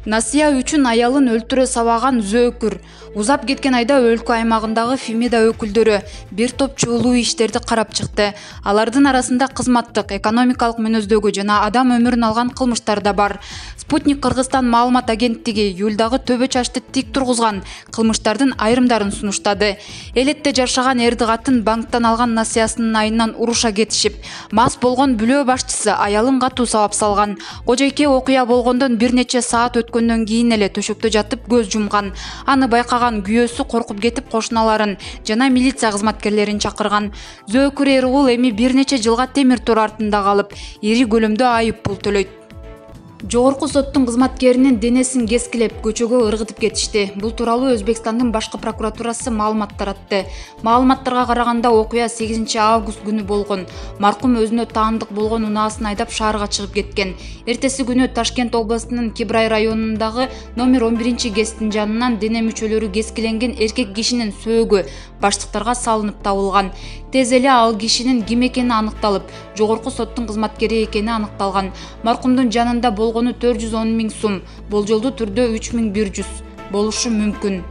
Насыя үчүн аялын өлтүрө сабаган зөөкүр. Узап кеткен айда өлкө аймагындагы Фемида өкүлдөрү бир топ чоолуу иштерди карап чыкты. Алардын арасында кызматтык, экономикалык мүнөздөгү жана адам өмүрүн алган кылмыштар да бар. Спутник Кыргызстан маалымат агенттиги июлдагы төбө чачты тик тургузган кылмыштардын айрымдарын сунуштады. Элетте жашаган эрди катын банктан алган насыясынын айынан уруша кетишип, мас болгон бүлөө башчысы аялын катуу сабап салган. Кожойке окуя болгондон бир нече саат өткөндөн кийин эле төшөктө жатып көз жумган. Аны байкаган күйөөсү коркуп кетип кошуналарын жана милиция кызматкерлерин чакырган. Зөөкүр эр-угул эми бир нече жылга темир тор артында калып, ири көлөмдө айып пул төлөйт. Жогорку соттун кызматкеринин денесин кескилеп, көчөгө ыргытып кетишти. Бул тууралуу Өзбекстандын башкы прокуратурасы маалымат таратты. Маалыматтарга караганда окуя 8 август күнү болгон. Маркум өзүнө таандык болгон унаасын айдап шаарга чыгып кеткен. Эртеси күнү Ташкент областынын Кибрай районундагы номер 11 ГЭСтин жанынан дене мүчөлөрү кескиленген эркек кишинин сөөгү баштыктарга салынып табылган. Тез эле ал кишинин ким экени аныкталып, жогорку соттун кызматкери экени аныкталган. Маркумдун жанында болгону 410 000 сум, болжолдуу түрдө 3100 болушу мүмкүн.